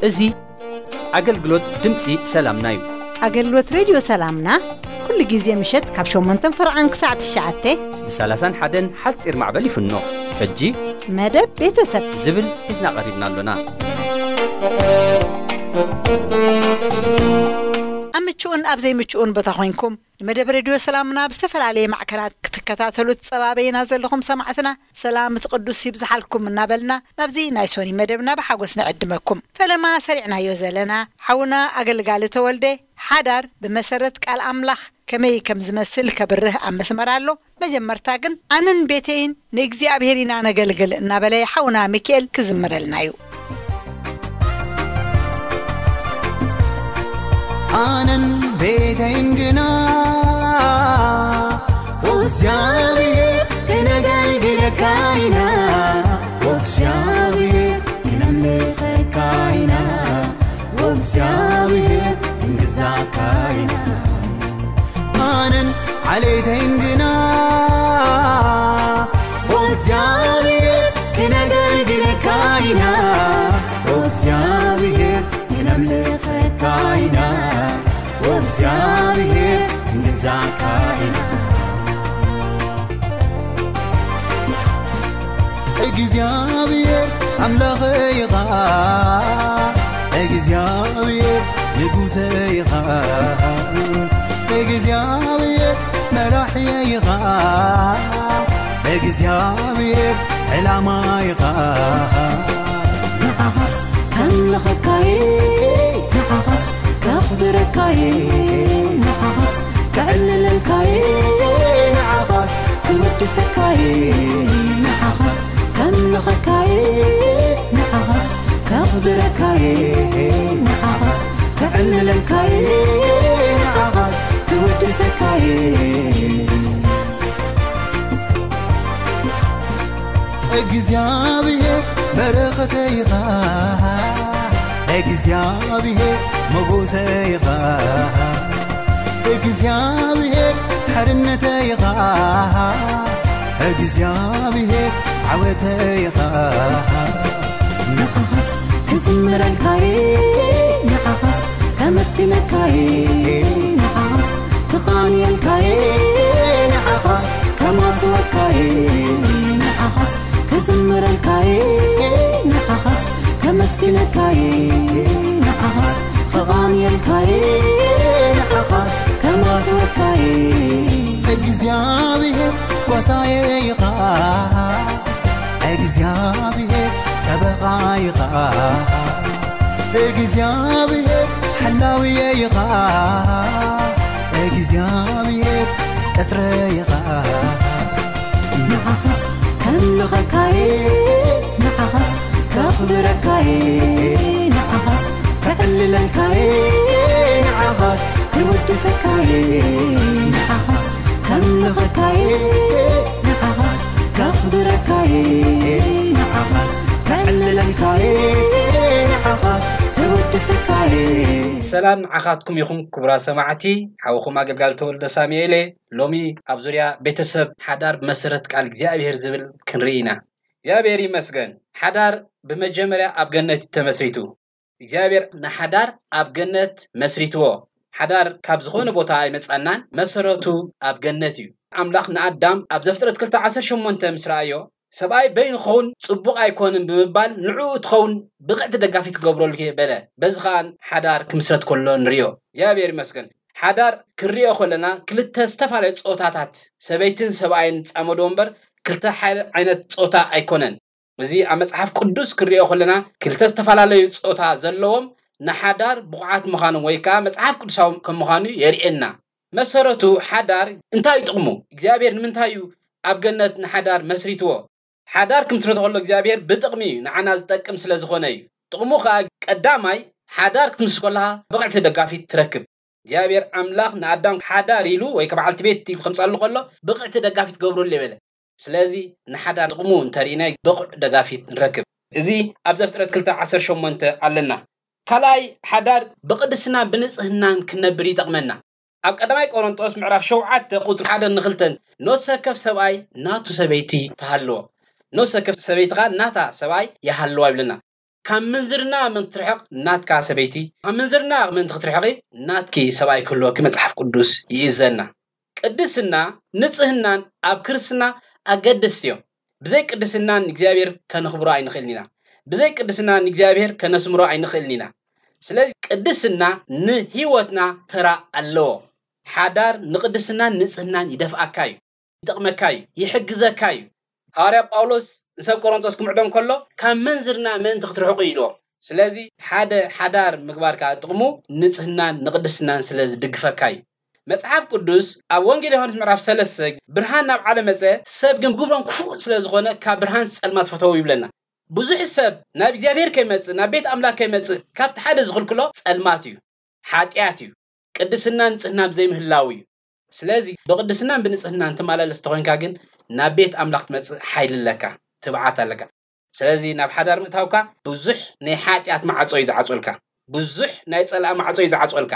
እዚ ኣገልግሎት ድምፂ ሰላምና እዩ። ኣገልግሎት ሬድዮ ሰላምና ኩሉ ግዜ ምሸት ካብ ሸሞንተን ፈርዓን ክሳዕ ትሽዓተ ብ30ን ሓደን ሓፂር ማዕበል ይፍኖ። ሕጂ መደብ ቤተሰብ ዝብል ሒዝና ቀሪብና ኣሎና። ኣብ ምቹኡን ኣብ ዘይምቹኡን ቦታ ኮይንኩም ንመደብ ሬድዮ ሰላምና ብዝተፈላለየ ማዕከናት ክትከታተሉ ትጸባበዩና ዘለኹም ሰማዕትና፣ ሰላም እቲ ቅዱስ ይብዝሓልኩም እናበልና ናብዚ ናይ ሶኒ መደብና ብሓጎስ ንዕድመኩም። ፈለማ ሰሪዕናዮ ዘለና ሓውና ኣገልጋሊ ተወልደ ሓዳር ብመሰረት ቃል ኣምላኽ ከመይ ከም ዝመስል ከብርህ ኣብ መስመር ኣሎ። መጀመርታ ግን ኣነን ቤተይን ንእግዚኣብሔር ኢና ነገልግል እናበለ ሓውና ሚካኤል ክዝምረልና እዩ። ኣነን ቤተይን ግና እግዚኣብሔር ክነገልግለካ ኢና፣ እግዚኣብሔር ክነምልኸካ ኢና፣ እግዚኣብሔር ክንግዛካ ኢና። ኣነን ዓሌተይን ግና እግዚኣብሔር ክነገልግለካ ኢና፣ እግዚኣብሔር ክነምልኸካ ኢና፣ እግዚኣብሔር ክንግዛካ ኢና። እግዚኣብሔር ኣምላኽ ኢኻ፣ እግዚኣብሔር ንጉሰ ኢኻ፣ እግዚኣብሔር መራሒ ኢኻ፣ እግዚኣብሔር ዕላማ ኢኻ። ንዓኻስ ከምልኸካየ፣ ንዓኻስ ከኽብረካየ፣ ንዓኻስ ከዕልለልካየ፣ ንዓኻስ ክውድሰካየ፣ ንዓኻስ ከምልኸካየ፣ ንዓኻስ ከኽብረካየ፣ ንዓኻስ ከዕልለልካየ፣ ንዓኻስ ክውድሰካየ። እግዚኣብሔር በረኸተይ ኢኻ፣ እግዚኣብሔር ሞጎሰይ ኢኻ፣ እግዚኣብሔር ሓርነተይ ኢኻ፣ እግዚኣብሔር ዓወተይ ኢኻ። ንዓኻስ ክዝምረልካየ፣ ንዓኻስ ከመስግነካየ፣ ንዓኻስ ክቓንየልካየ፣ ንዓኻስ ከማስወካየ፣ ንዓኻስ ክዝምረልካየ፣ ንዓኻስ ከመስግነካየ፣ ንዓኻስ ክቓንየልካየ፣ ንዓኻስ ከማስወካየ። እግዚኣብሔር ጓሳየ ኢኻ፣ እግዚኣብሔር ጠበቓ ኢኻ፣ እግዚኣብሔር ሓላውየ ኢኻ፣ እግዚኣብሔር ቅጥረ ኢኻ። ንዓኻስ ከምልኸካየ፣ ንዓኻስ ከኽብረካየ፣ ንዓኻስ ከዕልለልካየ፣ ንዓኻስ ክውድሰካየ፣ ንዓኻስ ከምልኸካየ፣ ንዓኻስ ከኽብረካየ፣ ንዓኻስ ከዕልለልካየ፣ ንዓኻስ ክውድሰካየ። ሰላም ንዓኻትኩም ይኹን ክቡራት ሰማዕቲ፣ ሓውኹም ኣገልጋሊ ተወልደ ሳሙኤል እየ። ሎሚ ኣብ ዙርያ ቤተሰብ ሓዳር ብመሰረት ቃል እግዚኣብሔር ዝብል ክንርኢ ኢና። እግዚኣብሔር ይመስገን። ሓዳር ብመጀመርያ ኣብ ገነት እዩ ተመስሪቱ። እግዚኣብሔር ንሓዳር ኣብ ገነት መስሪትዎ። ሓዳር ካብ ዝኾነ ቦታ ኣይመጻናን፣ መሰረቱ ኣብ ገነት እዩ። ኣምላኽ ንኣዳም ኣብ ዘፍጥረት ክልተ ዓሰርተ ሸሞንተ ምስ ረኣዮ፣ ሰብኣይ በይኑ ክኸውን ጽቡቕ ኣይኮንን ብምባል፣ ንዕኡ እትኸውን ብቕዕቲ ደጋፊት ክገብረሉ እየ በለ። በዚ ኸኣ ሓዳር ክምስረት ከሎ ንርእዮ። እግዚኣብሔር ይመስገን። ሓዳር ክንርእዮ ከለና ክልተ ዝተፈላለየ ጾታታት፣ ሰበይትን ሰብኣይን ጻመዶ እምበር ክልተ ሓ-፣ ዓይነት ጾታ ኣይኮነን። እዚ ኣብ መጽሓፍ ቅዱስ ክንርእዮ ከለና ክልተ ዝተፈላለዩ ጾታ ዘለዎም ንሓዳር ብቑዓት ምዃኖም ወይ ከኣ መጽሓፍ ቅዱሳዊ ከም ምዃኑ የርእየና። መሰረቱ ሓዳር እንታይ እዩ ጥቕሙ? እግዚኣብሔር ንምንታይ እዩ ኣብ ገነት ንሓዳር መስሪትዎ? ሓዳር ክምስርቶ ከሎ እግዚኣብሔር ብጥቕሚ እዩ፣ ንዓና ዝጠቅም ስለ ዝኾነ እዩ። ጥቕሙ ከኣ ቀዳማይ ሓዳር ክትምስርት ከለኻ ብቕዕቲ ደጋፊት ትረክብ። እግዚኣብሔር ኣምላኽ ንኣዳም ሓዳር ኢሉ ወይ ከ በዓልቲ ቤት ኢሉ ከምጻሉ ከሎ ብቕዕቲ ደጋፊት ገብረሉ የበለ። ስለዚ ንሓዳር ጥቕሙ እንተርኢናይ ብቑዕ ደጋፊት ንረክብ። እዚ ኣብ ዘፍጥረት ክልተ ዓሰርተ ሸሞንተ ኣለና። ካልኣይ፣ ሓዳር ብቕድስና ብንጽህናን ክነብር ይጠቕመና። ኣብ ቀዳማይ ቆሮንጦስ ምዕራፍ ሸውዓተ ቁጽሪ ሓደ ንክልተን፣ ነፍሲ ወከፍ ሰብኣይ ናቱ ሰበይቲ ትሃልዎ፣ ነፍሲ ወከፍ ሰበይቲ ኸኣ ናታ ሰብኣይ ይሃልዋ ይብለና። ካብ ምንዝርና ምእንቲ ክትርሕቕ ናትካ ሰበይቲ፣ ካብ ምንዝርና ምእንቲ ክትርሕቒ ናትኪ ሰብኣይ ክህልወኪ መጽሓፍ ቅዱስ ይእዘና። ቅድስና፣ ንጽህናን ኣብ ክርስትና ኣገደስቲ እዮም። ብዘይ ቅድስና ንእግዚኣብሔር ከነኽብሮ ኣይንኽእልን ኢና። ብዘይ ቅድስና ንእግዚኣብሔር ከነስምሮ ኣይንኽእልን ኢና። ስለዚ ቅድስና ንህይወትና ተራ ኣለዎ። ሓዳር ንቅድስናን ንጽህናን ይደፍኣካ እዩ፣ ይጠቕመካ እዩ፣ ይሕግዘካ እዩ። ሃዋርያ ጳውሎስ ንሰብ ቆሮንቶስ ክምዕዶም ከሎ ካብ ምንዝርና ምእንቲ ክትርሕቑ ኢልዎም። ስለዚ ሓደ ሓዳር ምግባር ከዓ ጥቕሙ ንጽህናን ንቅድስናን ስለ ዝድግፈካ እዩ። መጽሓፍ ቅዱስ ኣብ ወንጌል ዮሃንስ ምዕራፍ ሰለስተ፣ ብርሃን ናብ ዓለም መጸ፣ ሰብ ግን ግብሮም ክፉእ ስለ ዝኾነ ካብ ብርሃን ጸልማት ፈተዉ ይብለና። ብዙሕ ሰብ ናብ እግዚኣብሔር ከይመጽእ፣ ናብ ቤት ኣምላኽ ከይመጽእ ካብቲ ሓደ ዝኽልክሎ ጸልማት እዩ፣ ሓጢኣት እዩ፣ ቅድስናን ንጽህናን ዘይምህላው እዩ። ስለዚ ብቅድስናን ብንጽህናን ትመላለስ እንተኾይንካ ግን ናብ ቤት ኣምላኽ ትመጽእ ሓይሊ ኣለካ፣ ትብዓት ኣለካ። ስለዚ ናብ ሓዳር ምእታውካ ብዙሕ ናይ ሓጢኣት ማዕጾ እዩ ዝዓጽወልካ፣ ብዙሕ ናይ ጸላእ ማዕጾ እዩ ዝዓጽወልካ።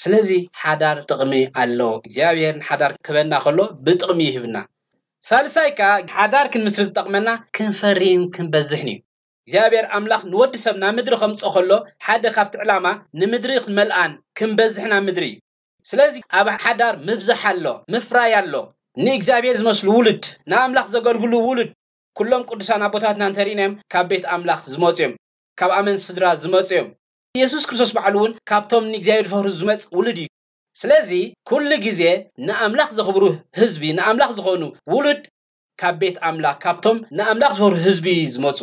ስለዚ ሓዳር ጥቕሚ ኣለዎ። እግዚኣብሔር ንሓዳር ክህበና ከሎ ብጥቕሚ ይህብና። ሳልሳይ ከኣ ሓዳር ክንምስርት ዝጠቕመና ክንፈሪን ክንበዝሕን እዩ። እግዚኣብሔር ኣምላኽ ንወዲ ሰብ ናብ ምድሪ ከምጽኦ ከሎ ሓደ ካብቲ ዕላማ ንምድሪ ክንመልኣን ክንበዝሕን ኣብ ምድሪ እዩ። ስለዚ ኣብ ሓዳር ምብዛሕ ኣሎ፣ ምፍራይ ኣሎ። ንእግዚኣብሔር ዝመስሉ ውሉድ፣ ንኣምላኽ ዘገልግሉ ውሉድ፣ ኩሎም ቅዱሳን ኣቦታትና እንተርኢናዮም ካብ ቤት ኣምላኽ ዝመጹ እዮም። ካብ ኣመን ስድራ ዝመጹ እዮም። የሱስ ክርስቶስ ባዕሉ እውን ካብቶም ንእግዚኣብሔር ዝፈርሁ ዝመጽእ ውሉድ እዩ። ስለዚ ኩሉ ግዜ ንኣምላኽ ዘኽብሩ ህዝቢ፣ ንኣምላኽ ዝኾኑ ውሉድ ካብ ቤት ኣምላኽ፣ ካብቶም ንኣምላኽ ዝፈርሁ ህዝቢ እዩ ዝመጹ።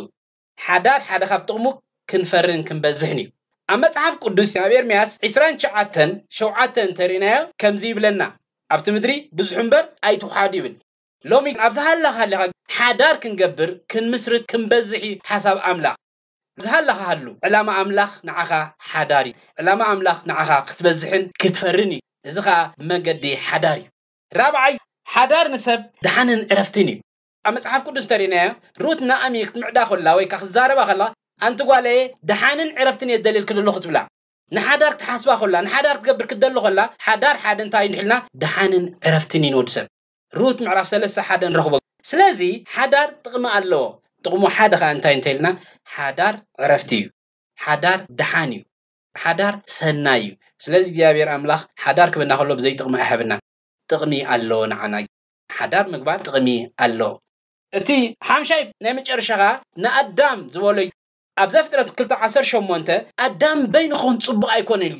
ሓዳር ሓደ ካብ ጥቕሙ ክንፈርን ክንበዝሕን እዩ። ኣብ መጽሓፍ ቅዱስ ኣብ ኤርምያስ ዕስራን ትሽዓተን ሸውዓተ እንተርኢናዮ ከምዚ ይብለና፣ ኣብቲ ምድሪ ብዙሑ እምበር ኣይትውሓዱ ይብል። ሎሚ ኣብ ዝሃለኻ ሃሊኻ ሓዳር ክንገብር፣ ክንምስርት፣ ክንበዝሕ እዩ ሓሳብ ኣምላኽ። ዝሃለኻ ሃሉ፣ ዕላማ ኣምላኽ ንዓኻ ሓዳር እዩ። ዕላማ ኣምላኽ ንዓኻ ክትበዝሕን ክትፈርን እዩ። እዚ ኸኣ መገዲ ሓዳር እዩ። ራብዓይ፣ ሓዳር ንሰብ ደሓንን ዕረፍትን እዩ። ኣብ መጽሓፍ ቅዱስ እንተርኢናዮ፣ ሩት ናኣሚ ክትምዕዳ ከላ ወይ ከኣ ክትዛረባ ከላ፣ ኣንቲ ጓለየ፣ ደሓንን ዕረፍትን እየ ዝደልየልኪ ዘለኹ ትብላ። ንሓዳር ክትሓስባ ከላ፣ ንሓዳር ክትገብር ክትደሊ ከላ፣ ሓዳር ሓደ እንታይ እዩ ንሕልና? ደሓንን ዕረፍትን እዩ ንወዲ ሰብ። ሩት ምዕራፍ ሰለስተ ሓደ ንረኽቦ። ስለዚ ሓዳር ጥቕሚ ኣለዎ። ጥቕሙ ሓደ ኸኣ እንታይ እንተኢልና፣ ሓዳር ዕረፍቲ እዩ። ሓዳር ደሓን እዩ። ሓዳር ሰናይ እዩ። ስለዚ እግዚኣብሔር ኣምላኽ ሓዳር ክበና ከሎ ብዘይ ጥቕሚ ኣይሃበና። ጥቕሚ ኣለዎ ንዓና። ሓዳር ምግባር ጥቕሚ ኣለዎ። እቲ ሓምሻይ ናይ መጨረሻ ኸኣ ንኣዳም ዝበሎ እዩ። ኣብ ዘፍጥረት ክልተ ዓሰርተ ሸሞንተ ኣዳም በይኑ ክኾን ጽቡቕ ኣይኮነን ኢሉ።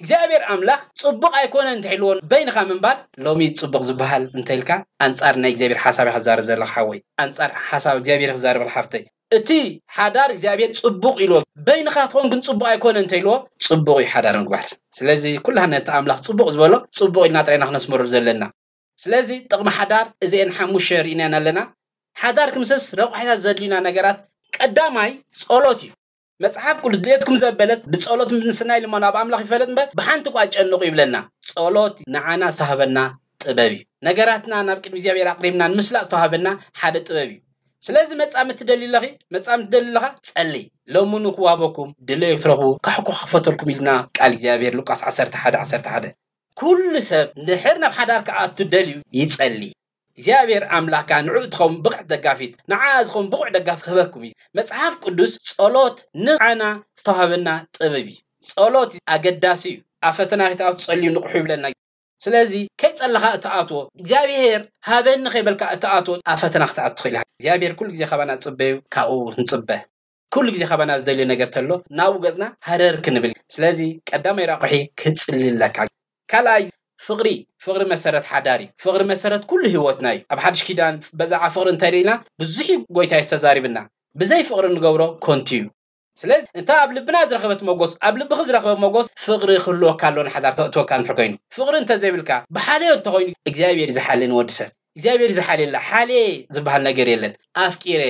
እግዚኣብሔር ኣምላኽ ጽቡቕ ኣይኮነን እንተ ኢልዎ በይንኻ ምንባር፣ ሎሚ ጽቡቕ ዝበሃል እንተ ኢልካ ኣንጻር ናይ እግዚኣብሔር ሓሳብ ኢኻ ትዛረብ ዘለኻ ሓወይ፣ ኣንጻር ሓሳብ እግዚኣብሔር ኢኻ ትዛረብ ሓፍተይ። እቲ ሓዳር እግዚኣብሔር ጽቡቕ ኢልዎ በይንኻ ትኾን ግን ጽቡቕ ኣይኮነን እንተ ኢልዎ ጽቡቕ እዩ ሓዳር ምግባር። ስለዚ ኩላህና ነቲ ኣምላኽ ጽቡቕ ዝበሎ ጽቡቕ ኢልና ጥራይ ኢና ክነስምረሉ ዘለና። ስለዚ ጥቕሚ ሓዳር እዚኤን ሓሙሽተ ርኢናን ኣለና። ሓዳር ክምስርት ረቋሒታት ዘድልዩና ነገራት ቀዳማይ ጸሎት እዩ። መጽሓፍ ቅዱስ ድሌትኩም ዘበለት ብጸሎት ምስናይ ልመኑ ኣብ ኣምላኽ ይፈለጥ እምበር ብሓንቲ እኳ ኣይጨንቑ ይብለና። ጸሎት ንዓና ዝተዋህበና ጥበብ እዩ። ነገራትና ናብ ቅድሚ እግዚኣብሔር ኣቕሪብና ንምስላጥ ዝተዋህበና ሓደ ጥበብ እዩ። ስለዚ መጻምድቲ ትደሊ ኣለኺ፣ መጻምድቲ ትደሊ ኣለኻ፣ ጸሊ። ለምኑ ክዋህበኩም፣ ድለዩ ክትረኽቡ፣ ካሕኩ ክኸፈተልኩም ኢልና ቃል እግዚኣብሔር ሉቃስ ዓሰርተ ሓደ ዓሰርተ ሓደ። ኩሉ ሰብ እንድሕር ናብ ሓዳር ክኣቱ ደልዩ ይጸሊ። እግዚኣብሔር ኣምላኽካ ንዕኡ ትኸውን ብቕዕቲ ደጋፊት፣ ንዓኣ ዝኸውን ብቑዕ ደጋፊ ክህበኩም እዩ። መጽሓፍ ቅዱስ ጸሎት ንዓና ዝተዋህበና ጥበብ እዩ። ጸሎት ኣገዳሲ እዩ። ኣብ ፈተና ከይትኣቱ ጸልዩ ንቕሑ ይብለና። ስለዚ ከይጸለኻ እትኣትዎ፣ እግዚኣብሔር ሃበኒ ከይበልካ እትኣትዎ ኣብ ፈተና ክትኣቱ ትኽእል ኢኻ። እግዚኣብሔር ኩሉ ግዜ ካባና ዝጽበዩ ካብኡ ንጽበ። ኩሉ ግዜ ካባና ዝደልዮ ነገር ተሎ ናብኡ ገጽና ሃረር ክንብል። ስለዚ ቀዳማይ ራቑሒ ክትጽሊ ኣለካ። ካልኣይ ፍቕሪ፣ ፍቕሪ መሰረት ሓዳር እዩ። ፍቕሪ መሰረት ኩሉ ህይወትና እዩ። ኣብ ሓድሽ ኪዳን በዛዓ ፍቕሪ እንተርኢና ብዙሕ እዩ ጎይታ እዩ ተዛሪብና። ብዘይ ፍቕሪ እንገብሮ ኮንቱ እዩ። ስለዚ እንታ ኣብ ልብና ዝረኸበት መጎስ ኣብ ልብኺ ዝረኸበ መጎስ ፍቕሪ ክህልወካ ኣሎ ንሓዳር ተእትወካ እንድሕር ኮይኑ። ፍቕሪ እንተዘይብልካ ብሓልዮ እንተኾይኑ እግዚኣብሔር እዩ ዝሓሊ ንወዲ ሰብ። እግዚኣብሔር እዩ ዝሓልየላ። ሓልየ ዝበሃል ነገር የለን። ኣፍቂረ፣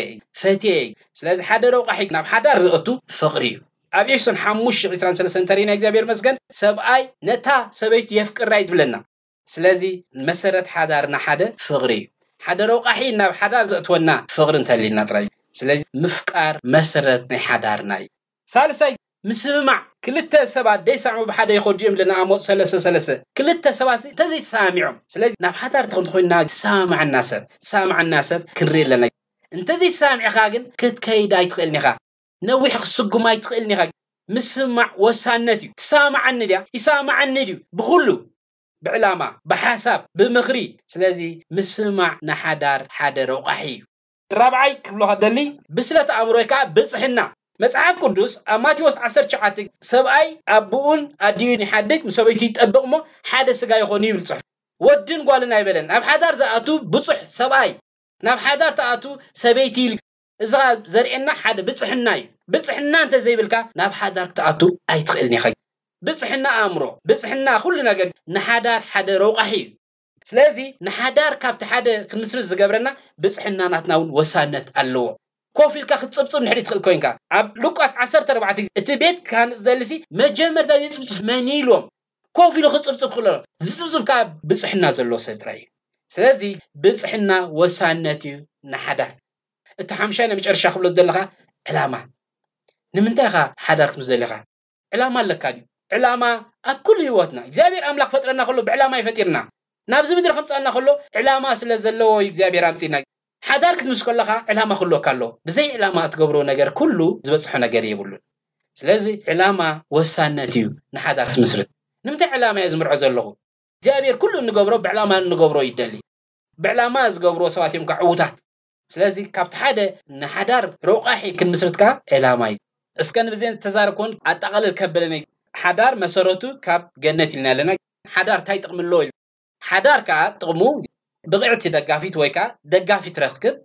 ፈትየ። ስለዚ ሓደ ረቋሒ ናብ ሓዳር ዘእቱ ፍቕሪ እዩ። ኣብ ኤፌሶን ሓሙሽተ ዕስራን ሰለስተን እንተርኢና እግዚኣብሔር መስገን ሰብኣይ ነታ ሰበይቱ የፍቅራ እዩ ዝብለና። ስለዚ መሰረት ሓዳርና ሓደ ፍቕሪ እዩ። ሓደ ረቋሒ ናብ ሓዳር ዘእትወና ፍቕሪ እንተሊና ጥራይ። ስለዚ ምፍቃር መሰረት ናይ ሓዳርና እዩ። ሳልሳይ፣ ምስምማዕ። ክልተ ሰባት ደይሰምዑ ብሓደ ይኸዱ እዮም ለና ኣሞፅ ሰለስተ ሰለስተ። ክልተ ሰባት እንተዘይተሰማሚዖም፣ ስለዚ ናብ ሓዳር ተኾይንና ዝሰማማዓና ሰብ ዝሰማማዓና ሰብ ክንርኢ ኣለና። እንተዘይተሰማሚዕካ ግን ክትከይድ ኣይትኽእልን ኢኻ። ነዊሕ ክትስጉም ኣይትኽእልን ኢኻ። ምስማዕ ወሳነት እዩ። ትሰማማዓኒ ድያ? ይሰማማዓኒ ድዩ? ብኹሉ፣ ብዕላማ፣ ብሓሳብ፣ ብምኽሪ። ስለዚ ምስማዕ ንሓዳር ሓደ ረቋሒ እዩ። ራብዓይ ክብሎ ከደሊ፣ ብስለት ኣእምሮ ወይ ከዓ ብፅሕና። መፅሓፍ ቅዱስ ኣብ ማቴዎስ ዓሰርተ ትሽዓተ፣ ሰብኣይ ኣቦኡን ኣዲኡን ይሓድግ፣ ምስ ሰበይቱ ይጠብቕ እሞ ሓደ ስጋ ይኾኑ ይብል ፅሑፍ። ወድን ጓልን ኣይበለን። ኣብ ሓዳር ዝኣቱ ብፁሕ ሰብኣይ፣ ናብ ሓዳር ትኣቱ ሰበይቲ ኢሉ። እዚ ኸኣ ዘርእየና ሓደ ብፅሕና እዩ። ብፅሕና እንተዘይብልካ ናብ ሓዳር ክትኣቱ ኣይትኽእልን ኢኻ። ብፅሕና ኣእምሮ፣ ብፅሕና ኩሉ ነገር ንሓዳር ሓደ ረቋሒ እዩ። ስለዚ ንሓዳር ካብቲ ሓደ ክንምስርት ዝገብረና ብፅሕና ናትና እውን ወሳነት ኣለዎ። ኮፍ ኢልካ ክትፅብፅብ ንድሕሪት ትኽእል ኮይንካ፣ ኣብ ሉቃስ ዓሰርተ ኣርባዕተ ግዜ እቲ ቤት ክሃንፅ ዝደልሲ መጀመርታ ዝፅብፅብ መን እዩ ኢልዎም። ኮፍ ኢሉ ክፅብፅብ ክኽእል ኣለዎ። ዝፅብፅብ ከዓ ብፅሕና ዘለዎ ሰብ ጥራይ እዩ። ስለዚ ብፅሕና ወሳነት እዩ ንሓዳር። እቲ ሓምሻይ ናይ መጨረሻ ክብሎ ዘለኻ ዕላማ። ንምንታይ ኢኻ ሓዳር ክትምስርት ደሊኻ? ዕላማ ኣለካ ድዩ? ዕላማ ኣብ ኩሉ ህይወትና እግዚኣብሔር ኣምላኽ ፈጥረና ከሎ ብዕላማ ይፈጢርና። ናብዚ ምድሪ ከምፃና ከሎ ዕላማ ስለ ዘለዎ እዩ እግዚኣብሔር ኣምፂና። ሓዳር ክትምስርት ከለኻ ዕላማ ክህልወካ ኣለዎ። ብዘይ ዕላማ እትገብሮ ነገር ኩሉ ዝበፅሖ ነገር የብሉን። ስለዚ ዕላማ ወሳነት እዩ ንሓዳር ክትምስርት። ንምንታይ ዕላማ እየ ዝምርዖ ዘለኹ? እግዚኣብሔር ኩሉ እንገብሮ ብዕላማ እንገብሮ ይደሊ። ብዕላማ ዝገብርዎ ሰባት እዮም ከዓ ዕዉታት። ስለዚ ካብቲ ሓደ ንሓዳር ረቋሒ ክንምስርት ከዓ ዕላማ እዩ። እስከ ንብዜን ዝተዛረብኩን ኣጠቓልል ከበለኒ። ሓዳር መሰረቱ ካብ ገነት ኢልና ኣለና። ሓዳር እንታይ ጥቕሚ ኣለዎ ኢሉ። ሓዳር ከዓ ጥቕሙ ብቕዕቲ ደጋፊት ወይ ከዓ ደጋፊት ረክብ፣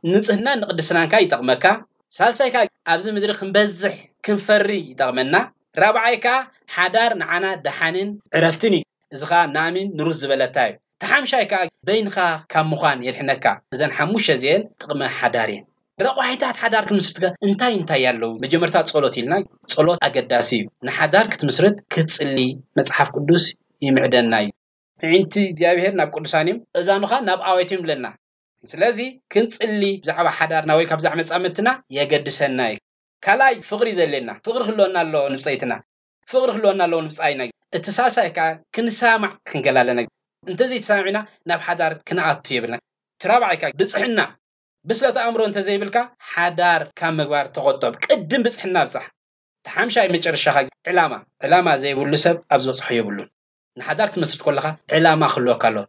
ንጽህናን ንቅድስናን ከዓ ይጠቕመካ። ሳልሳይ ከዓ ኣብዚ ምድሪ ክንበዝሕ ክንፈሪ ይጠቕመና። ራብዓይ ከዓ ሓዳር ንዓና ደሓንን ዕረፍትን እዩ። እዚ ከዓ ናሚን ንሩዝ ዝበለታ እዩ። ተሓምሻይ ከዓ በይንኻ ካብ ምዃን የድሕነካ። እዘን ሓሙሽተ እዚአን ጥቕሚ ሓዳር እየን። ረቋሒታት ሓዳር ክንምስርት ከ እንታይ እንታይ ኣለዉ? መጀመርታ ጸሎት ኢልና፣ ጸሎት ኣገዳሲ እዩ። ንሓዳር ክትምስርት ክትጽሊ መጽሓፍ ቅዱስ ይምዕደና እዩ። ኣዒንቲ እግዚኣብሔር ናብ ቅዱሳን እዮም፣ እዛኑኻ ናብ ኣባይቶም ይብለና። ስለዚ ክንጽሊ ብዛዕባ ሓዳርና ወይ ካብ ብዛዕባ መጻምድትና የገድሰና እዩ። ካልኣይ ፍቕሪ ዘድልየና፣ ፍቕሪ ክህልወና ኣለዎ ንብጸይትና፣ ፍቕሪ ክህልወና ኣለዎ ንብጻይና። እቲ ሳልሳይ ከኣ ክንሰማማዕ ክንክእል ኣለና። እንተዘይተሰማሚዕና ናብ ሓዳር ክንኣቱ የብልና። እቲ ራብዓይ ከኣ ብጽሕና፣ ብስለት ኣእምሮ እንተዘይብልካ ሓዳር ካብ ምግባር ተቖጠብ። ቅድም ብጽሕና ብጻሕ። እቲ ሓምሻይ መጨረሻ ከኣ ዕላማ። ዕላማ ዘይብሉ ሰብ ኣብ ዝበጽሖ የብሉን። ንሓዳር ክትመስርት ከለኻ ዕላማ ክህልወካ ኣለዎ።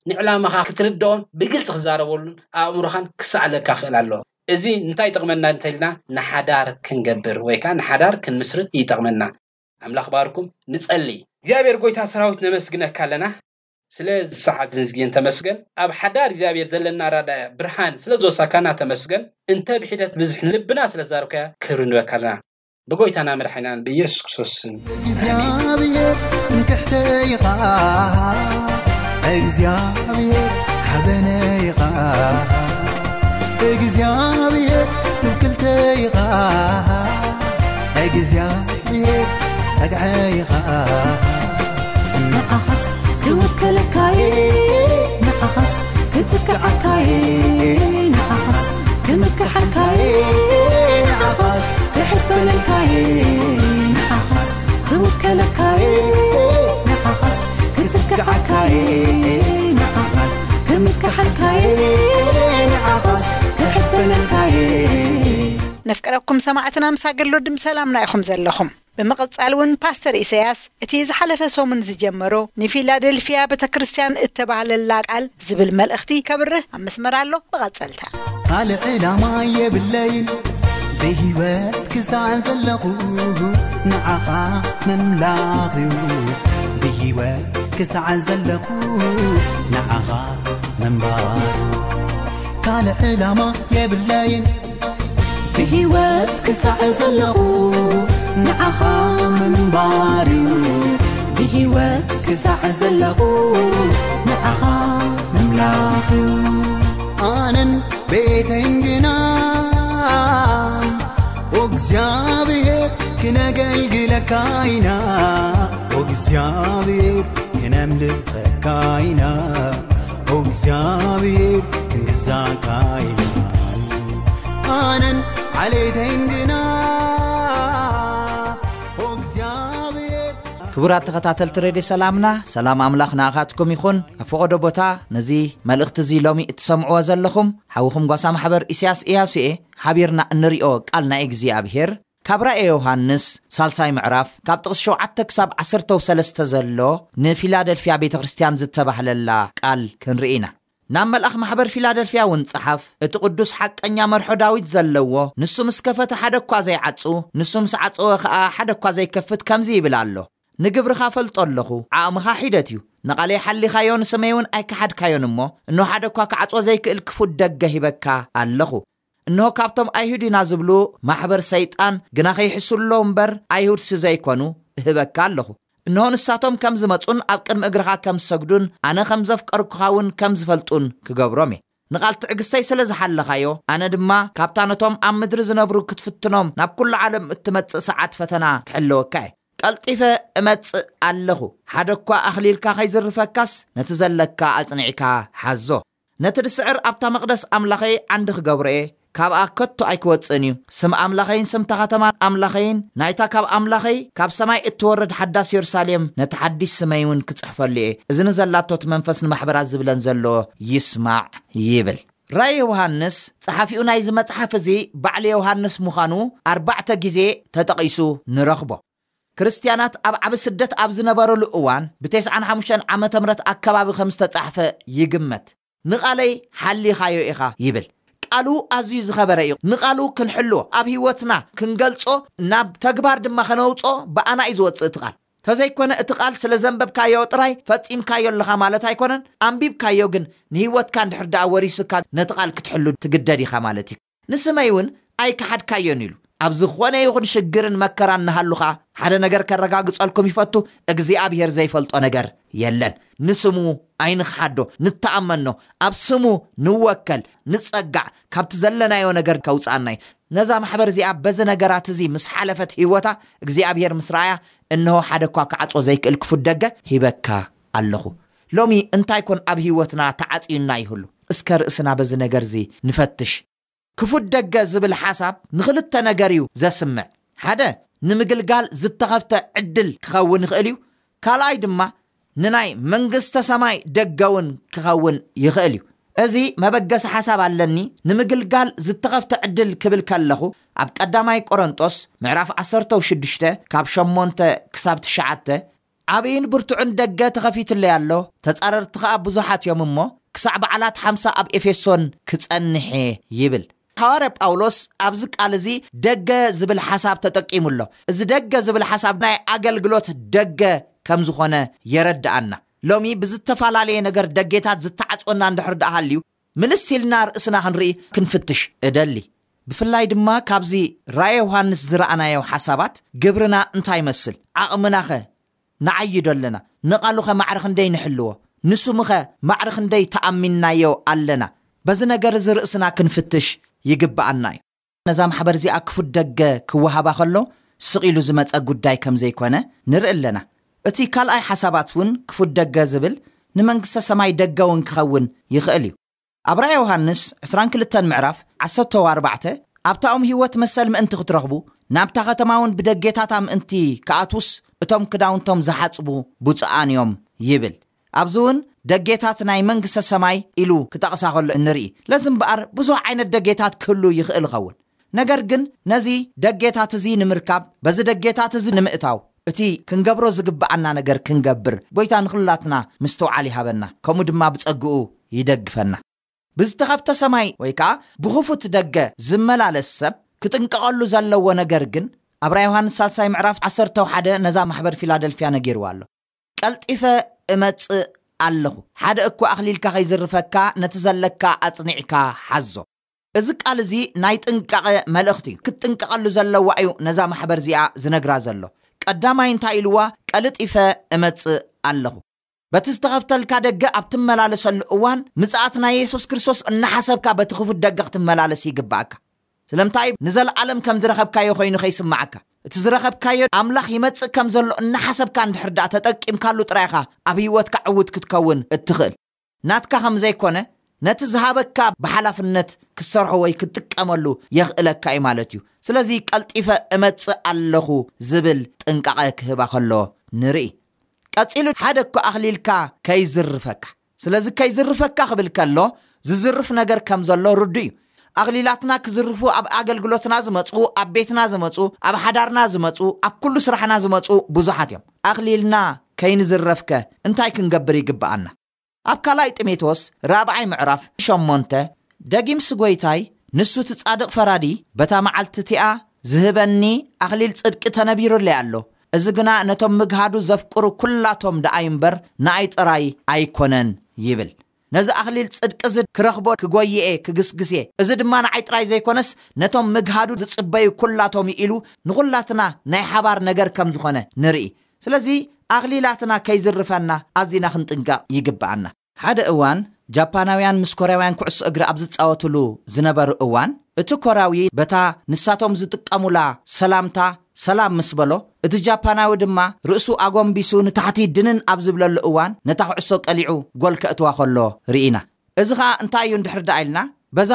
ንዕላማኻ ክትርድኦም ብግልጺ ክዛረበሉን ኣእምሮኻን ክሰኣለካ ክኽእል ኣለዎ። እዚ እንታይ ይጠቕመና እንተኢልና ንሓዳር ክንገብር ወይ ከኣ ንሓዳር ክንምስርት ይጠቕመና። ኣምላኽ ባርኩም። ንጸሊ። እግዚኣብሔር ጎይታ ሰራዊት ነመስግነካ ኣለና። ስለ ሰዓት ዝንዝግን ተመስገን። ኣብ ሓዳር እግዚኣብሔር ዘለና ራዳያ ብርሃን ስለ ዝወሳካና ተመስገን። እንተ ብሒደት ብዝሕ ልብና ስለ ዛርካያ ክብሪ ንበካ ኣለና። ብጎይታና መድሓኒናን ብኢየሱስ ክርስቶስ ስም። እግዚኣብሔር እንክሕተይኻ እግዚኣብሔር ሓበነይኻ እግዚኣብሔር ትውክልተይኻ እግዚኣብሔር ጸግዐይኻ ንዓኻስ ክውከለካየ ንዓኻስ ክትክዓካየ ንዓኻስ ክምክሓልካየ ንዓኻስ ክሕበነልካየ ንዓኻስ ክውከለካየ ንዓኻስ ክትክዓካየ ንዓኻስ ክምክሓልካየ ንዓኻስ ክሕበነልካየ። ነፍቅረኩም ሰማዕትና ምስ ኣገሎ ድም ሰላምና ኢኹም ዘለኹም። ብምቕጻል እውን ፓስተር ኢሳያስ እቲ ዝሓለፈ ሰሙን ዝጀመሮ ንፊላደልፊያ ቤተ ክርስቲያን እተባህለላ ቃል ዝብል መልእኽቲ ከብርህ ኣብ መስመር ኣሎ። መቐጸልታ። ካልእ ዕላማ የብለይን ብህይወት ክሳዕ ዘለኹ ንዓኻ ምምላኽ እዩ ብህይወት ክሳዕ ዘለኹ ንዓኻ ምንባር ካልእ ዕላማ የብለይን ብህይወት ክሳዕ ዘለኹ ንዓኻ ምንባር እዩ ብህይወት ክሳዕ ዘለኹ ንዓኻ ምምላኽ እዩ ኣነን ቤተይን ግና እግዚኣብሔር ክነገልግለካ ኢና እግዚኣብሔር ክነምልኸካ ኢና እግዚኣብሔር ክንግዛእካ ኢና ኣነን ዓሌተይን ግና። ኦ እግዚኣብሔር። ክቡራት ተኸታተልቲ ሬድዮ ሰላምና፣ ሰላም ኣምላኽ ንኣኻትኩም ይኹን። ኣብ ፈቐዶ ቦታ ነዚ መልእኽቲ እዚ ሎሚ እትሰምዕዎ ዘለኹም ሓውኹም ጓሳ ማሕበር ኢሳያስ ኢያሱ እየ። ሓቢርና እንሪኦ ቃል ናይ እግዚኣብሔር ካብ ራእየ ዮሃንስ ሳልሳይ ምዕራፍ ካብ ጥቕሲ ሸውዓተ ክሳብ ዓሰርተ ሰለስተ ዘሎ ንፊላደልፍያ ቤተ ክርስቲያን ዝተባህለላ ቃል ክንርኢ ኢና። ናብ መልኣኽ ማሕበር ፊላደልፍያ እውን ጸሓፍ፣ እቲ ቅዱስ ሓቀኛ መርሖ ዳዊት ዘለዎ፣ ንሱ ምስ ከፈተ ሓደ እኳ ዘይዓጹ፣ ንሱ ምስ ዓጸወ ኸኣ ሓደ እኳ ዘይከፍት ከምዚ ይብል ኣሎ። ንግብርኻ ፈልጦ ኣለኹ፣ ዓቕምኻ ሒደት እዩ። ንቓለይ ሓሊኻዮ፣ ንስመይ እውን ኣይከሓድካዮን እሞ፣ እንሆ ሓደ እኳ ክዓጽዎ ዘይክእል ክፉት ደገ ሂበካ ኣለኹ። እንሆ ካብቶም ኣይሁድ ኢና ዝብሉ ማሕበር ሰይጣን ግና ከይሕስሉ እምበር ኣይሁድሲ ዘይኮኑ እህበካ ኣለኹ። እንሆ ንሳቶም ከም ዝመጹን ኣብ ቅድሚ እግርኻ ከም ዝሰግዱን ኣነ ከም ዘፍቀርኩኻ እውን ከም ዝፈልጡን ክገብሮም እየ። ንቓል ትዕግስተይ ስለ ዝሓለኻዮ ኣነ ድማ ካብታ ነቶም ኣብ ምድሪ ዝነብሩ ክትፍትኖም ናብ ኩሉ ዓለም እትመጽእ ሰዓት ፈተና ክሕለወካ እየ። ቀልጢፈ እመጽእ ኣለኹ። ሓደ እኳ ኣኽሊልካ ከይዝርፈካስ ነቲ ዘለካ ኣጽኒዕካ ሓዞ። ነቲ ድስዕር ኣብታ መቕደስ ኣምላኸይ ዓንዲ ክገብሮ እየ፣ ካብኣ ከቶ ኣይክወጽእን እዩ። ስም ኣምላኸይን ስምታ ከተማ ኣምላኸይን ናይታ ካብ ኣምላኸይ ካብ ሰማይ እትወርድ ሓዳስ የሩሳሌም ነቲ ሓዲስ ስመይ እውን ክጽሕፈሉ እየ። እዚ ንዘላቶ እቲ መንፈስ ንማሕበራት ዝብለን ዘሎ ይስማዕ ይብል። ራእይ ዮሃንስ ጸሓፊኡ ናይዚ መጽሓፍ እዚ ባዕሊ ዮሃንስ ምዃኑ ኣርባዕተ ግዜ ተጠቒሱ ንረኽቦ። ክርስትያናት ኣብ ዓቢ ስደት ኣብ ዝነበረሉ እዋን ብተስዓን ሓሙሽተን ዓመተ ምህረት ኣከባቢ ከም ዝተጻሕፈ ይግመት። ንቓለይ ሓሊኻዮ ኢኻ ይብል። ቃሉ ኣዝዩ ዝኸበረ እዩ። ንቓሉ ክንሕልዎ፣ ኣብ ህይወትና ክንገልጾ፣ ናብ ተግባር ድማ ከነውጾ ብኣና እዩ ዝወጽእ እቲ ቃል። ተዘይኮነ እቲ ቃል ስለ ዘንበብካዮ ጥራይ ፈጺምካዮ ኣለኻ ማለት ኣይኮነን። ኣንቢብካዮ ግን ንህይወትካ እንድሕር ደኣ ወሪስካ ነቲ ቃል ክትሕሉ ትግደድ ኢኻ ማለት እዩ። ንስመይ እውን ኣይከሓድካዮን ኢሉ። ኣብ ዝኾነ ይኹን ሽግርን መከራን ንሃሉኻ ሓደ ነገር ከረጋግጸልኩም ይፈቱ፣ እግዚኣብሔር ዘይፈልጦ ነገር የለን። ንስሙ ኣይንኽሓዶ፣ ንተኣመኖ፣ ኣብ ስሙ ንወከል፣ ንጸጋዕ፣ ካብቲ ዘለናዮ ነገር ከውጽኣና እዩ። ነዛ ማሕበር እዚኣ በዚ ነገራት እዚ ምስ ሓለፈት ህይወታ እግዚኣብሔር ምስ ረኣያ፣ እንሆ ሓደ እኳ ክዓጾ ዘይክእል ክፉት ደገ ሂበካ ኣለኹ። ሎሚ እንታይ ኮን ኣብ ህይወትና ተዓጽዩና ይህሉ? እስከ ርእስና በዚ ነገር እዚ ንፈትሽ። ክፉት ደገ ዝብል ሓሳብ ንኽልተ ነገር እዩ ዘስምዕ። ሓደ፣ ንምግልጋል ዝተኸፍተ ዕድል ክኸውን ይኽእል እዩ። ካልኣይ ድማ ንናይ መንግስተ ሰማይ ደገ እውን ክኸውን ይኽእል እዩ። እዚ መበገሲ ሓሳብ ኣለኒ፣ ንምግልጋል ዝተኸፍተ ዕድል ክብል ከለኹ፣ ኣብ ቀዳማይ ቆሮንጦስ ምዕራፍ ዓሰርተ ሽዱሽተ ካብ ሸሞንተ ክሳብ ትሽዓተ፣ ዓብይን ብርቱዕን ደገ ተኸፊትለይ ኣሎ፣ ተጻረርቲ ኸኣ ብዙሓት እዮም እሞ፣ ክሳዕ በዓላት ሓምሳ ኣብ ኤፌሶን ክጸንሕ እየ ይብል። ሓዋርያ ጳውሎስ ኣብዚ ቃል እዚ ደገ ዝብል ሓሳብ ተጠቂሙ ኣሎ። እዚ ደገ ዝብል ሓሳብ ናይ ኣገልግሎት ደገ ከም ዝኾነ የረድኣና። ሎሚ ብዝተፈላለየ ነገር ደጌታት ዝተዓጽወና እንድሕር ደኣ ሃልዩ፣ ምልስ ኢልና ርእስና ክንርኢ ክንፍትሽ እደሊ። ብፍላይ ድማ ካብዚ ራእየ ዮሃንስ ዝረኣናዮ ሓሳባት ግብርና እንታይ ይመስል? ዓቕምናኸ ንዓይዶ ኣለና? ንቓሉኸ ማዕረ ክንደይ ንሕልዎ? ንስሙኸ ማዕረ ክንደይ ተኣሚንናዮ ኣለና? በዚ ነገር እዚ ርእስና ክንፍትሽ ይግብኣና እዩ። ነዛ ማሕበር እዚኣ ክፉት ደገ ክወሃባ ከሎ ስቕ ኢሉ ዝመጸ ጉዳይ ከም ዘይኮነ ንርኢ ኣለና። እቲ ካልኣይ ሓሳባት እውን ክፉት ደገ ዝብል ንመንግስተ ሰማይ ደገ እውን ክኸውን ይኽእል እዩ። ኣብ ራእየ ዮሃንስ ዕስራን ክልተን ምዕራፍ ዓሰርተ ኣርባዕተ ኣብታ ኦም ህይወት መሰል ምእንቲ ክትረኽቡ ናብታ ከተማ እውን ብደጌታታ ምእንቲ ክኣትዉስ እቶም ክዳውንቶም ዝሓጽቡ ብፁዓን እዮም ይብል። ኣብዚ እውን ደጌታት ናይ መንግስተ ሰማይ ኢሉ ክጠቕሳ ከሎ እንርኢ። ለዚ እምበኣር ብዙሕ ዓይነት ደጌታት ክህሉ ይኽእል ይኸውን። ነገር ግን ነዚ ደጌታት እዚ ንምርካብ፣ በዚ ደጌታት እዚ ንምእታው፣ እቲ ክንገብሮ ዝግብኣና ነገር ክንገብር፣ ጎይታ ንኹላትና ምስትውዓል ይሃበና፣ ከምኡ ድማ ብጸግኡ ይደግፈና። ብዝተኸፍተ ሰማይ ወይ ከኣ ብኽፉት ደገ ዝመላለስ ሰብ ክጥንቀቐሉ ዘለዎ ነገር ግን፣ ኣብ ራእየ ዮሃንስ ሳልሳይ ምዕራፍ ዓሰርተ ሓደ ነዛ ማሕበር ፊላደልፍያ ነጊርዋ ኣሎ። "ቀልጢፈ እመጽእ ኣለኹ፣ ሓደ እኳ ኣኽሊልካ ከይዝርፈካ ነቲ ዘለካ ኣጽኒዕካ ሓዞ።" እዚ ቃል እዚ ናይ ጥንቃቐ መልእኽቲ እዩ። ክትጥንቀቐሉ ዘለዋ እዩ ነዛ ማሕበር እዚኣ ዝነግራ ዘሎ። ቀዳማይ እንታይ ኢልዋ? "ቀልጢፈ እመጽእ ኣለኹ።" በቲ ዝተኸፍተልካ ደገ ኣብ ትመላለሰሉ እዋን፣ ምጽኣት ናይ የሱስ ክርስቶስ እናሓሰብካ በቲ ክፉት ደገ ክትመላለስ ይግብኣካ። ስለምንታይ? ንዘለኣለም ከም ዝረኸብካዮ ኮይኑ ከይስምዓካ። እቲ ዝረኸብካዮ ኣምላኽ ይመጽእ ከም ዘሎ እናሓሰብካ እንድሕር ደኣ ተጠቂምካሉ ጥራይ ኢኻ ኣብ ህይወትካ ዕዉት ክትከውን እትኽእል። ናትካ ከም ዘይኮነ፣ ነቲ ዝሃበካ ብሓላፍነት ክትሰርሖ ወይ ክትጥቀመሉ የኽእለካ እዩ ማለት እዩ። ስለዚ ቀልጢፈ እመጽእ ኣለኹ ዝብል ጥንቃቐ ክህባ ከሎ ንርኢ። ቀጺሉ ሓደ እኮ ኣኽሊልካ ከይዝርፈካ። ስለዚ ከይዝርፈካ ክብል ከሎ ዝዝርፍ ነገር ከም ዘሎ ርዱ እዩ። ኣኽሊላትና ክዝርፉ ኣብ ኣገልግሎትና ዝመጹ፣ ኣብ ቤትና ዝመጹ፣ ኣብ ሓዳርና ዝመጹ፣ ኣብ ኩሉ ስራሕና ዝመጹ ብዙሓት እዮም። ኣኽሊልና ከይንዝረፍከ እንታይ ክንገብር ይግብኣና? ኣብ ካልኣይ ጢሞቴዎስ ራብዓይ ምዕራፍ ሸሞንተ፣ ደጊምስ ጐይታይ፣ ንሱ እቲ ጻድቕ ፈራዲ፣ በታ መዓልቲ እቲኣ ዝህበኒ ኣኽሊል ጽድቂ ተነቢሩለይ ኣሎ። እዚ ግና ነቶም ምግሃዱ ዘፍቅሩ ኩላቶም ደኣ እዩ እምበር፣ ንኣይ ጥራይ ኣይኮነን ይብል። ነዚ ኣኽሊል ጽድቂ እዚ ክረኽቦ ክጎይኤ ክግስግሴ፣ እዚ ድማ ንዓይ ጥራይ ዘይኮነስ ነቶም ምግሃዱ ዝጽበዩ ኩላቶም እዩ ኢሉ ንኹላትና ናይ ሓባር ነገር ከም ዝኾነ ንርኢ። ስለዚ ኣኽሊላትና ከይዝርፈና ኣዚና ክንጥንቀቕ ይግብኣና። ሓደ እዋን ጃፓናውያን ምስ ኮርያውያን ኩዕሶ እግሪ ኣብ ዝጻወትሉ ዝነበሩ እዋን፣ እቲ ኮርያዊ በታ ንሳቶም ዝጥቀሙላ ሰላምታ ሰላም ምስ በሎ፣ እቲ ጃፓናዊ ድማ ርእሱ ኣጎንቢሱ ንታሕቲ ድንን ኣብ ዝብለሉ እዋን፣ ነታ ኩዕሶ ቀሊዑ ጎል ከእትዋ ከሎ ርኢና። እዚ ኸኣ እንታይ እዩ እንድሕር ደኣ ኢልና፣ በዛ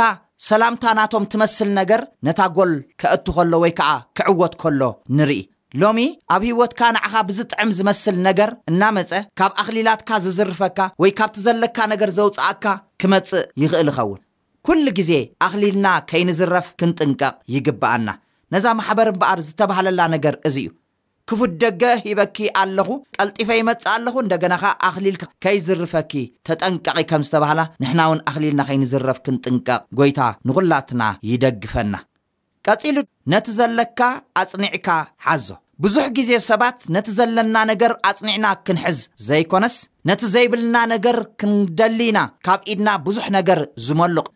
ሰላምታ ናቶም ትመስል ነገር ነታ ጎል ከእቱ ከሎ ወይ ከኣ ክዕወት ከሎ ንርኢ። ሎሚ ኣብ ህይወትካ ንዓኻ ብዝጥዕም ዝመስል ነገር እናመጸ፣ ካብ ኣኽሊላትካ ዝዝርፈካ ወይ ካብቲ ዘለካ ነገር ዘውጽኣካ ክመጽእ ይኽእል ይኸውን። ኩሉ ግዜ ኣኽሊልና ከይንዝረፍ ክንጥንቀቕ ይግብኣና። ነዛ ማሕበር እምበኣር ዝተባህለላ ነገር እዚ እዩ። ክፉት ደገ ሂበኪ ኣለኹ፣ ቀልጢፈ ይመጽእ ኣለኹ፣ እንደገና ኸኣ ኣኽሊል ከይዝርፈኪ ተጠንቀቒ ከም ዝተባህላ፣ ንሕና እውን ኣኽሊልና ከይንዝረፍ ክንጥንቀቕ ጐይታ ንኹላትና ይደግፈና። ቀጺሉ፣ ነቲ ዘለካ ኣጽኒዕካ ሓዞ። ብዙሕ ግዜ ሰባት ነቲ ዘለና ነገር ኣጽኒዕና ክንሕዝ ዘይኮነስ፣ ነቲ ዘይብልና ነገር ክንደሊ ኢና ካብ ኢድና ብዙሕ ነገር ዝመልቕ።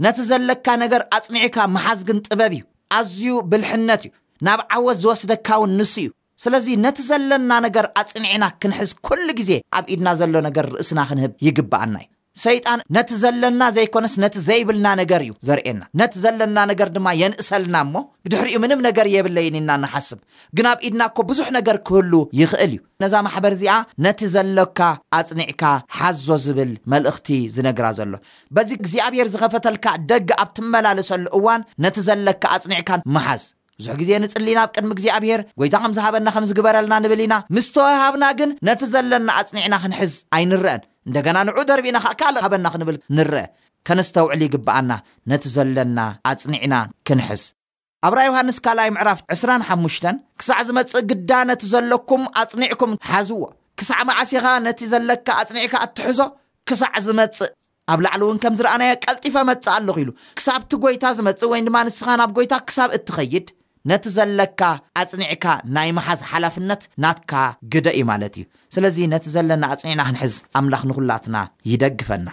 ነቲ ዘለካ ነገር ኣጽኒዕካ ምሓዝ ግን ጥበብ እዩ። ኣዝዩ ብልሕነት እዩ። ናብ ዓወት ዝወስደካ እውን ንሱ እዩ። ስለዚ ነቲ ዘለና ነገር ኣጽኒዕና ክንሕዝ፣ ኩሉ ግዜ ኣብ ኢድና ዘሎ ነገር ርእስና ክንህብ ይግብኣና እዩ። ሰይጣን ነቲ ዘለና ዘይኮነስ ነቲ ዘይብልና ነገር እዩ ዘርእየና። ነቲ ዘለና ነገር ድማ የንእሰልና እሞ፣ ብድሕሪኡ ምንም ነገር የብለይን ኢና ንሓስብ። ግን ኣብ ኢድና እኮ ብዙሕ ነገር ክህሉ ይኽእል እዩ። ነዛ ማሕበር እዚኣ ነቲ ዘሎካ ኣጽኒዕካ ሓዞ ዝብል መልእኽቲ ዝነግራ ዘሎ። በዚ እግዚኣብሔር ዝኸፈተልካ ደገ ኣብ ትመላለሰሉ እዋን ነቲ ዘለካ ኣጽኒዕካ ምሓዝ። ብዙሕ ግዜ ንጽሊ ናብ ቅድሚ እግዚኣብሔር፣ "ጐይታ ከም ዝሃበና ከም ዝግበረልና" ንብል ኢና። ምስ ተወሃብና ግን ነቲ ዘለና ኣጽኒዕና ክንሕዝ ኣይንረአን። እንደገና ንዑ ደርቢና ከኣ ካልእ ሃበና ክንብል ንረአ። ከነስተውዕል ይግብኣና፣ ነቲ ዘለና ኣጽኒዕና ክንሕዝ። ኣብ ራእይ ዮሃንስ ካልኣይ ምዕራፍ ዕስራን ሓሙሽተን፣ "ክሳዕ ዝመጽእ ግዳ ነቲ ዘለኩም ኣጽኒዕኩም ሓዝዎ። ክሳዕ መዓስ ኢኻ ነቲ ዘለካ ኣጽኒዕካ እትሕዞ? ክሳዕ ዝመጽእ። ኣብ ላዕሊ እውን ከም ዝረኣናዮ ቀልጢፈ መጽእ ኣለኹ" ኢሉ። ክሳብ እቲ ጐይታ ዝመጽእ ወይ ድማ ንስኻ ናብ ጐይታ ክሳብ እትኸይድ፣ ነቲ ዘለካ ኣጽኒዕካ ናይ ምሓዝ ሓላፍነት ናትካ ግደ እዩ ማለት እዩ። ስለዚ ነቲ ዘለና ኣጽኒዕና ክንሕዝ ኣምላኽ ንኹላትና ይደግፈና።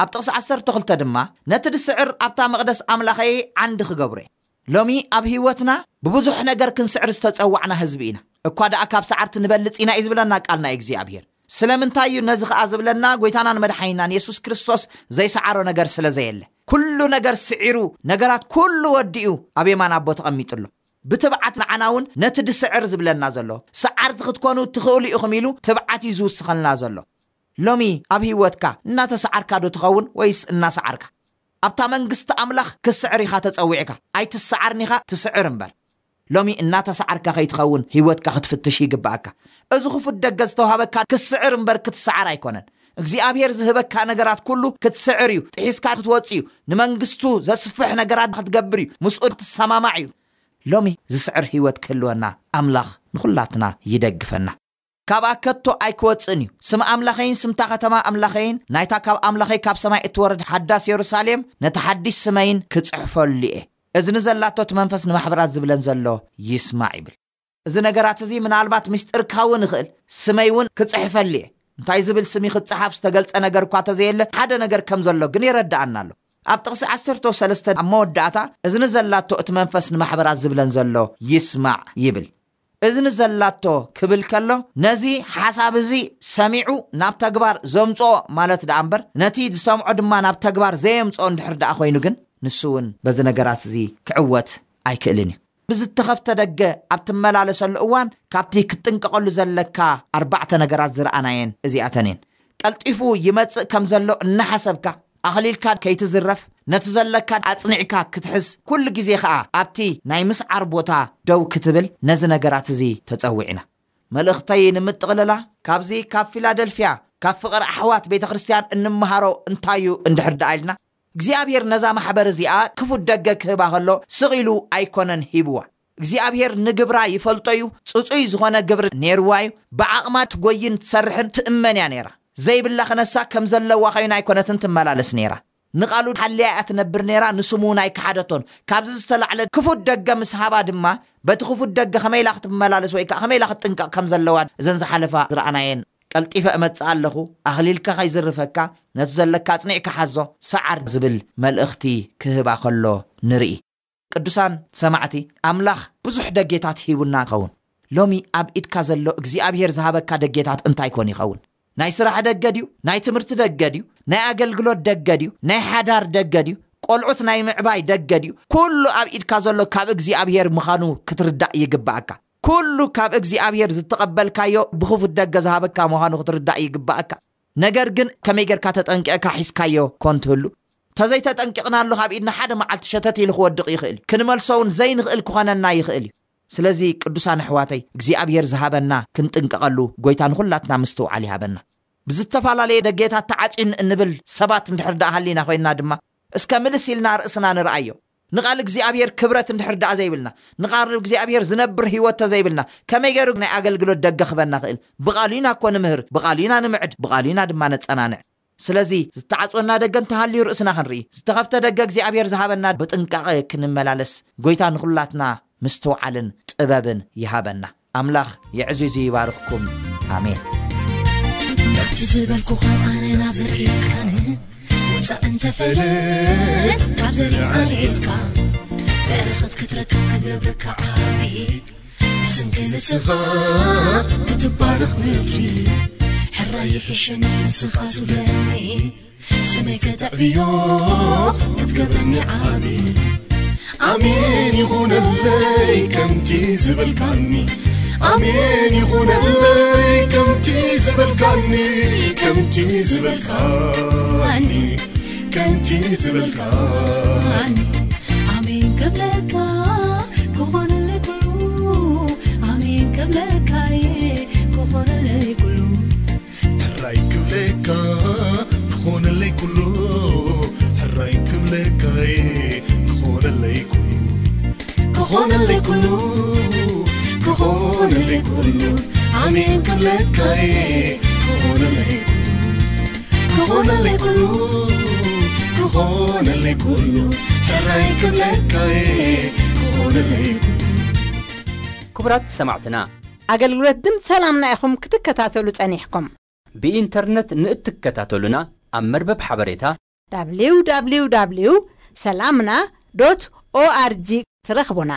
ኣብ ጥቕሲ ዓሰርተ ክልተ ድማ፣ "ነቲ ድስዕር ኣብታ መቕደስ ኣምላኸይ ዓንዲ ክገብሮ እየ።" ሎሚ ኣብ ህይወትና ብብዙሕ ነገር ክንስዕር ዝተጸዋዕና ህዝቢ ኢና። እኳ ደኣ ካብ ሰዓርቲ ንበልጽ ኢና እዩ ዝብለና ቃል ናይ እግዚኣብሔር። ስለምንታይ እዩ ነዚ ኸኣ ዝብለና? ጐይታናን መድሓኒናን የሱስ ክርስቶስ ዘይሰዓሮ ነገር ስለ ዘየለ። ኩሉ ነገር ስዒሩ፣ ነገራት ኩሉ ወዲኡ ኣብ የማን ኣቦ ተቐሚጡ ኣሎ። ብትብዓት ንዓና እውን ነቲ ድስዕር ዝብለና ዘሎ፣ ሰዓርቲ ክትኮኑ ትኽእሉ ኢኹም ኢሉ ትብዓት እዩ ዝውስኸልና ዘሎ። ሎሚ ኣብ ህይወትካ እናተሰዓርካ ዶ ትኸውን ወይስ እናሰዓርካ? ኣብታ መንግስቲ ኣምላኽ ክትስዕር ኢኻ ተጸዊዕካ። ኣይትሰዓርን ኢኻ፣ ትስዕር እምበር። ሎሚ እናተሰዓርካ ከይትኸውን ህይወትካ ክትፍትሽ ይግብኣካ። እዚ ክፉት ደገ ዝተዋህበካ ክትስዕር እምበር ክትሰዓር ኣይኮነን። እግዚኣብሔር ዝህበካ ነገራት ኩሉ ክትስዕር እዩ። ጥሒስካ ክትወጽእ እዩ። ንመንግስቱ ዘስፍሕ ነገራት ክትገብር እዩ። ምስኡ ክትሰማማዕ እዩ። ሎሚ ዝስዕር ህይወት ክህልወና ኣምላኽ ንኹላትና ይደግፈና። "ካብኣ ከቶ ኣይክወጽእን እዩ። ስም ኣምላኸይን ስምታ ከተማ ኣምላኸይን፣ ናይታ ካብ ኣምላኸይ ካብ ሰማይ እትወርድ ሓዳስ የሩሳሌም፣ ነቲ ሓድሽ ስመይን ክጽሕፈሉ እየ። እዝኒ ዘላቶ እቲ መንፈስ ንማሕበራት ዝብለን ዘሎ ይስማዕ" ይብል። እዚ ነገራት እዚ ምናልባት ምስጢር ክኸውን ይኽእል። "ስመይ እውን ክጽሕፈሉ እየ።" እንታይ ዝብል ስም እዩ ክጸሓፍ ዝተገልጸ ነገር እኳ ተዘየለ፣ ሓደ ነገር ከም ዘሎ ግን የረድኣና ኣሎ። ኣብ ጥቕሲ ዓሰርተ ሰለስተ ኣብ መወዳእታ፣ "እዝኒ ዘላቶ እቲ መንፈስ ንማሕበራት ዝብለን ዘሎ ይስማዕ" ይብል። እዝኒ ዘላቶ ክብል ከሎ፣ ነዚ ሓሳብ እዚ ሰሚዑ ናብ ተግባር ዘምጽኦ ማለት ደኣ እምበር፣ ነቲ ዝሰምዖ ድማ ናብ ተግባር ዘየምጽኦ እንድሕር ደኣ ኮይኑ ግን፣ ንሱ እውን በዚ ነገራት እዚ ክዕወት ኣይክእልን እዩ። ብዝተኸፍተ ደገ ኣብ ትመላለሰሉ እዋን፣ ካብቲ ክትጥንቀቐሉ ዘለካ ኣርባዕተ ነገራት ዝረኣናየን እዚኣተን እየን። ቀልጢፉ ይመጽእ ከም ዘሎ እናሓሰብካ ኣኽሊልካ ከይትዝረፍ፣ ነቲ ዘለካ ኣጽኒዕካ ክትሕዝ፣ ኩሉ ግዜ ኸኣ ኣብቲ ናይ ምስዓር ቦታ ደው ክትብል፣ ነዚ ነገራት እዚ ተጸዊዕና። መልእኽተይ ንምጥቕልላ፣ ካብዚ ካብ ፊላደልፍያ ካብ ፍቕሪ ኣሕዋት ቤተ ክርስቲያን እንመሃሮ እንታይ እዩ እንድሕር ደኣ ኢልና፣ እግዚኣብሔር ነዛ ማሕበር እዚኣ ክፉት ደገ ክህባ ከሎ ስቕ ኢሉ ኣይኮነን ሂብዋ። እግዚኣብሔር ንግብራ ይፈልጦ እዩ። ጽጹይ ዝኾነ ግብሪ ኔርዋ እዩ። ብዓቕማ ትጎይን ትሰርሕን ትእመን እያ ኔራ። ዘይብላ ክነሳ ከም ዘለዋ ኮይና ኣይኮነትን ትመላለስ ኔራ። ንቓሉ ሓልያ እያ ትነብር ኔራ፣ ንስሙ እውን ኣይከሓደቶን። ካብዚ ዝተላዕለ ክፉት ደገ ምስ ሃባ ድማ፣ በቲ ክፉት ደገ ከመይ ኢላ ክትመላለስ ወይ ከዓ ከመይ ኢላ ክትጥንቀቕ ከም ዘለዋ እዘን ዝሓለፋ ዝረኣናየን። ቀልጢፈ እመጽእ ኣለኹ፣ ኣኽሊልካ ከይዝርፈካ፣ ነቲ ዘለካ ኣጽኒዕካ ሓዞ፣ ሰዓር ዝብል መልእኽቲ ክህባ ከሎ ንርኢ። ቅዱሳን ሰማዕቲ፣ ኣምላኽ ብዙሕ ደጌታት ሂቡና ይኸውን። ሎሚ ኣብ ኢድካ ዘሎ እግዚኣብሔር ዝሃበካ ደጌታት እንታይ ኮን ይኸውን? ናይ ስራሕ ደገ ድዩ? ናይ ትምህርቲ ደገ ድዩ? ናይ ኣገልግሎት ደገ ድዩ? ናይ ሓዳር ደገ ድዩ? ቆልዑት ናይ ምዕባይ ደገ ድዩ? ኩሉ ኣብ ኢድካ ዘሎ ካብ እግዚኣብሔር ምዃኑ ክትርዳእ ይግብኣካ። ኩሉ ካብ እግዚኣብሔር ዝተቐበልካዮ ብኽፉት ደገ ዝሃበካ ምዃኑ ክትርዳእ ይግብኣካ። ነገር ግን ከመይ ጌርካ ተጠንቂቕካ ሒዝካዮ ኮን ትህሉ? ተዘይተጠንቂቕናሉ ካብ ኢድና ሓደ መዓልቲ ሸተት ኢሉ ክወድቕ ይኽእል እዩ። ክንመልሶ እውን ዘይንኽእል ክኾነና ይኽእል እዩ። ስለዚ ቅዱሳን ኣሕዋተይ፣ እግዚኣብሔር ዝሃበና ክንጥንቀቐሉ፣ ጎይታ ንኹላትና ምስትውዓል ይሃበና። ብዝተፈላለየ ደጌታት ተዓጽዩኒ እንብል ሰባት እንድሕር ደኣ ሃሊና ኮይንና ድማ፣ እስከ ምልስ ኢልና ርእስና ንርኣዮ። ንቓል እግዚኣብሔር ክብረት እንድሕር ደኣ ዘይብልና፣ ንቓል እግዚኣብሔር ዝነብር ህይወት ተዘይብልና፣ ከመይ ገይሩ ናይ ኣገልግሎት ደገ ክበና ክእል? ብቓሉ ኢና እኮ ንምህር፣ ብቓሉ ኢና ንምዕድ፣ ብቓሉ ኢና ድማ ነጸናንዕ። ስለዚ ዝተዓጽወና ደገ እንተሃልዩ ርእስና ክንርኢ፣ ዝተኸፍተ ደገ እግዚኣብሔር ዝሃበና ብጥንቃቐ ክንመላለስ፣ ጎይታ ንኹላትና ምስትውዓልን ጥበብን ይሃበና። ኣምላኽ የዕዚዙ ይባርኽኩም። ኣሜን። ከምቲ ዝበልኩኻ ኣነ ናብ ዘርእካን ውፃእ እንተፈለ ካብ ዘርኢ ዓሌትካ በረኸት ክትረክብ ክገብረካ ዓቢ ብስንኪ ንስኻ ክትባረኽ ምድሪ ሕራይ ይሕሸኒ ንስኻ ትብለኒ ስመይ ከተዕብዮ ክትገብረኒ ዓቢ ኣሜን ይኹነለይ ከምቲ ዝበልካኒ ኣሜን ይኹነለይ ከምቲ ዝበልካኒ ከምቲ ዝበልካኒ ከምቲ ዝበልካኒ ኣሜን ክብለካ ክኾነለይ ኩሉ ኣሜን ክብለካ ክኾነለይ ኩሉ ሕራይ ክብለካ ክኾነለይ ኩሉ ሕራይ ክብለካ ክኾነለይ ኩሉ ክኾነለይ ኩሉ ክኾነለይ ኩሉ ኣሜን ክብለካ ክኾነለይ ኩሉ ክኾነለይ ኩሉ ክኾነለይ ኩሉ ሕራይ ክብለካ ክኾነለይ ኩሉ ክቡራት ሰማዕትና ኣገልግሎት ድምፂ ሰላምና ኢኹም ክትከታተሉ ጸኒሕኩም። ብኢንተርነት ንእትከታተሉና ኣብ መርበብ ሓበሬታ www ሰላምና ዶት ኦኣርጂ ትረኽቡና።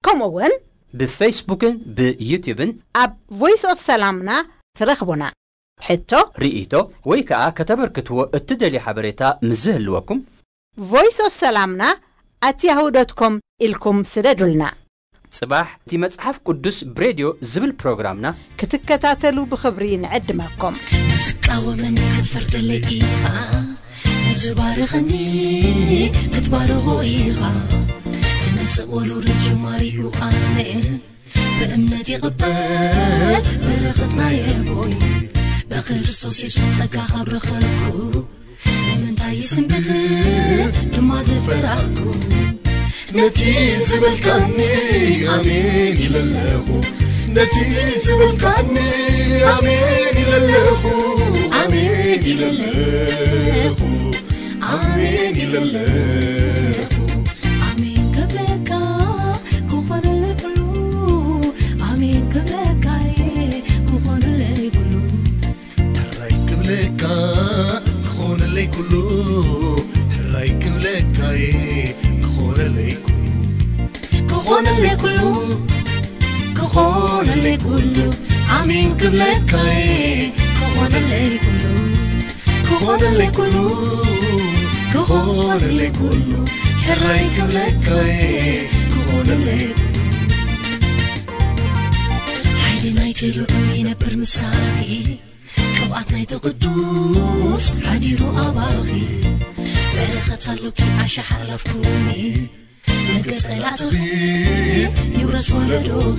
ከምኡ እውን ብፌስቡክን ብዩትዩብን ኣብ ቮይስ ኦፍ ሰላምና ትረኽቡና። ሕቶ፣ ርኢቶ ወይ ከዓ ከተበርክትዎ እትደልዩ ሓበሬታ ምስ ዝህልወኩም ቮይስ ኦፍ ሰላምና ኣት ያሁ ዶት ኮም ኢልኩም ስደዱልና። ጽባሕ እቲ መጽሓፍ ቅዱስ ብሬድዮ ዝብል ፕሮግራምና ክትከታተሉ ብኽብሪ ንዕድመኩም። ዝቃወመኒ ክትፈርደለይ ኢኻ፣ ንዝባርኸኒ ክትባርኾ ኢኻ። ዝመጽእ ወሉድ ጀማሪዩ ኣነ ብእምነት ይቕበል በረኸት ናይ ኣቦይ ብክርስቶስ የሱስ ጸጋ ካብ ረኸብኩ ንምንታይ ስንብት ድማ ዝፈራህኩ ነቲ ዝበልካኒ ኣሜን ኢለለኹ ነቲ ዝበልካኒ ኣሜን ኢለለኹ ኣሜን ኢለለኹ ኣሜን ኢለለኹ ኣሜን ክብለካ ክኾነለይ ኩሉ ኣሜን ክብለካ ክኾነለይ ኩሉ ሕራይ ክብለካ ክኾነለይ ኩሉ ሕራይ ክብለካ ክኾነለይ ኩሉ ክኾነለይ ኩሉ ክኾነለይ ኩሉ ኣሜን ክብለካ ክኾነለይ ኩሉ ክኾነለይ ኩሉ ክኾነለይ ኩሉ ሕራይ ክብለካ ክኾነለይ ኩሉ ሓይሊ ናይቲ ልዑል ይነብር ምሳኺ ቅብኣት ናይቲ ቅዱስ ሓዲሩ ኣባኺ። በረኸት ኣሎኪ ዓሻ ሓላፍኩኒ። መገጸላትኺ ይውረስ ወለዶኺ።